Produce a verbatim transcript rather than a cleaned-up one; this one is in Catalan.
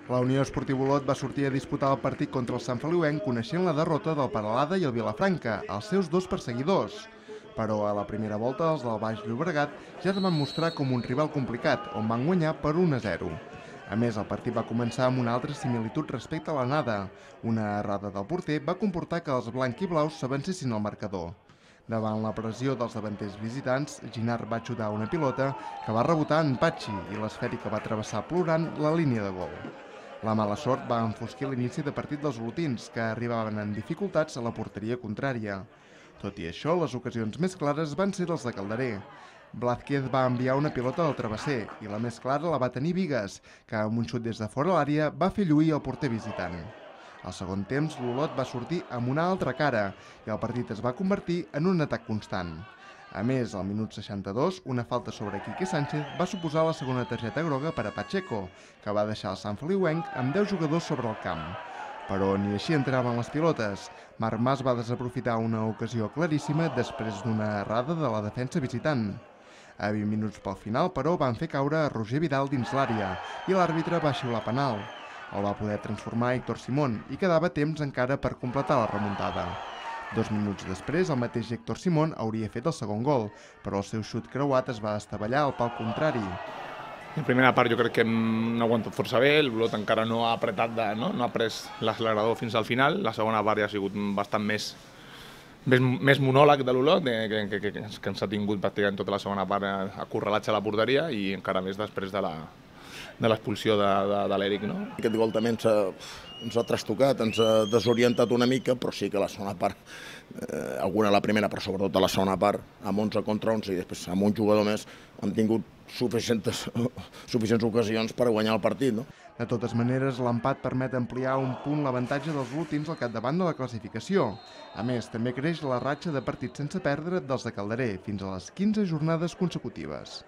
La Unió Esportiva Olot va sortir a disputar el partit contra el Sant Feliuenc coneixent la derrota del Peralada i el Vilafranca, els seus dos perseguidors. Però a la primera volta els del Baix Llobregat ja es van mostrar com un rival complicat, on van guanyar per un a zero. A més, el partit va començar amb una altra similitud respecte a l'anada. Una errada del porter va comportar que els blanc-i-blaus s'avancessin al marcador. Davant la pressió dels davanters visitants, Ginard va xutar una pilota que va rebotar en Patxi i l'esfèrica va travessar plorant la línia de gol. La mala sort va enfosquir l'inici de partit dels olotins, que arribaven en dificultats a la porteria contrària. Tot i això, les ocasions més clares van ser dels de Calderer. Blázquez va enviar una pilota al travesser i la més clara la va tenir Vigues, que amb un xut des de fora l'àrea va fer lluir el porter visitant. Al segon temps, l'Olot va sortir amb una altra cara i el partit es va convertir en un atac constant. A més, al minut seixanta-dos, una falta sobre Quique Sánchez va suposar la segona targeta groga per a Pacheco, que va deixar el Sant Feliuenc amb deu jugadors sobre el camp. Però ni així entraven les pilotes. Marc Mas va desaprofitar una ocasió claríssima després d'una errada de la defensa visitant. A vint minuts pel final, però, van fer caure a Roger Vidal dins l'àrea i l'àrbitre va xiular penal. El va poder transformar Héctor Simón i quedava temps encara per completar la remuntada. Dos minuts després, el mateix Héctor Simón hauria fet el segon gol, però el seu xut creuat es va estavellar al pal contrari. La primera part jo crec que hem aguantat força bé, el Olot encara no ha apretat, de, no? no ha pres l'accelerador fins al final, la segona part ja ha sigut bastant més, més, més monòleg de l'Olot, que, que, que, que ens ha tingut pràcticament tota la segona part acorralatge a la porteria i encara més després de la de l'expulsió de, de, de l'Eric. No? Aquest gol també ens ha, ens ha trastocat, ens ha desorientat una mica, però sí que la segona part, eh, alguna a la primera, però sobretot a la segona part, amb onze contra onze i després amb un jugador més, hem tingut suficients, suficients ocasions per guanyar el partit. No? De totes maneres, l'empat permet ampliar un punt l'avantatge dels olotins al capdavant de la classificació. A més, també creix la ratxa de partits sense perdre dels de Calderer, fins a les quinze jornades consecutives.